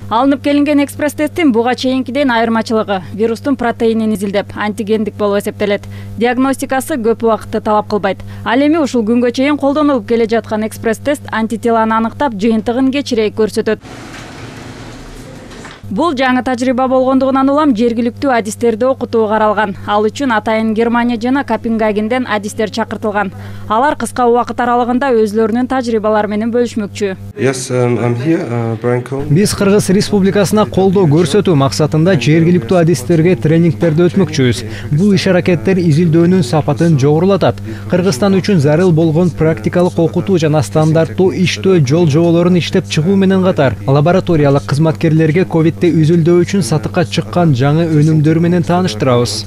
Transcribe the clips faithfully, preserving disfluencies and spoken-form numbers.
Алынып келинген экспресс-тесттин буга чейинкиден айырмачылыгы вирустун протеинин изилдеп, антигендик болуп эсептелет. Диагностикасы көп убакытты талап кылбайт. Ал эми ушул күнгө чейин колдонулуп келе жаткан экспресс-тест антителаны аныктап, жыйынтыгын кечирээк көрсөтөт. Бул жаңы тажрыйба болгондугунан улам жергиликтүү адистерди окутуу каралган. Ал үчүн атайын Германия жана Копенгагенден адистер чакыртылган. Алар кыска убакыт аралыгында өзлөрүнүн тажрыйбалары менен бөлүшмөкчү. Yes, um, I'm here, uh, Brian Cohen. Биз Кыргыз Республикасына колдоо көрсөтүү максатында жергиликтүү адистерге тренингтерди өтмөкчүбүз. Бул иш-аракеттер изилдөөнүн сапатын жогорулатат. Кыргызстан үчүн зарыл болгон практикалык окутуу жана стандарттуу иштөө жол жоболорун иштеп чыгуу менен катар, лабораториялык кызматкерлерге ковид үзүлдөө үчүн сатыкка чыккан жаңы өнүмдөр менен тааныштырабыз.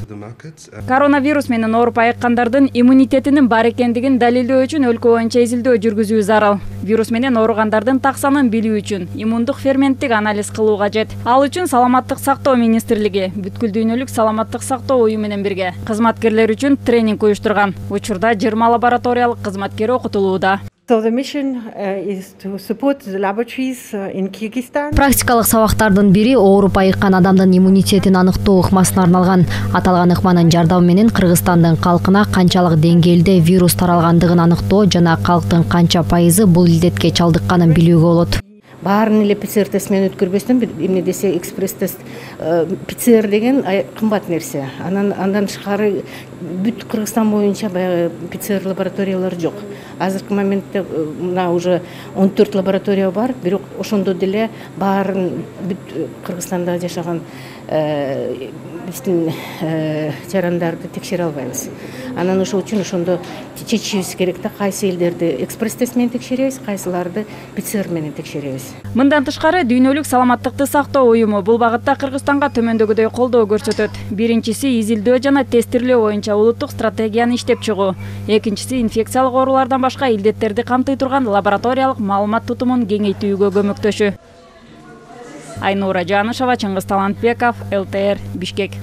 Коронавирус менен ооруп айыккандардын иммунитетинин бар экендигин далилдөө үчүн өлкө боюнча изилдөө жүргүзүү зарыл. Вирус менен ооругандардын так санын билүү үчүн иммундук ферменттик анализ кылуу кажет. Ал үчүн Саламаттык сактоо министрлиги бүткүл дүйнөлүк саламаттык сактоо уюму менен бирге кызматкерлер үчүн тренинг уюштурган. Учурда жыйырма лабораториялык кызматкер окутулууда. Практикалык сабактардын бири ооруп айыккан адамдын иммунитетин аныктоо ыкмасына арналган. Аталган ыкманын жардамы менен Кыргызстандын калкына канчалык деңгээлде вирус таралгандыгын аныктоо жана калктын канча пайызы бул илдетке чалдыкканын билүүгө болот. Баарын эле ПЦР тест менен өткөрбөстөн эмне десе экспресс тест ПЦР деген кымбат нерсе. Анан андан тышкары бүт Кыргызстан боюнча баягы ПЦР лабораториялар жок. Азыркы моментте мына уже он төрт лаборатория бар, бирок ошондо деле баарын бүт Кыргызстанда жашаган биздин жарандарды текшере албайбыз. Анан ошол үчүн ошондо чечишибиз керек да, кайсы элдерди экспресс тест менен текшеребиз, кайсыларды ПЦР менен текшеребиз. Мындан тышкары дүйнөлүк саламаттыкты сактоо уюму бул багытта Кыргызстанга төмөндөгүдөй колдоо көрсөтөт. Биринчиси изилдөө жана тестирлөө боюнча улуттук стратегияны иштеп чыгуу. Экинчиси инфекциялык оорулардан башка илдеттерди камтый турган лабораториялык маалымат тутумун кеңейтүүгө көмөктөшүү. Айнура Жанышева, Чыңгыз Талантбеков, эл тэ эр, Бишкек.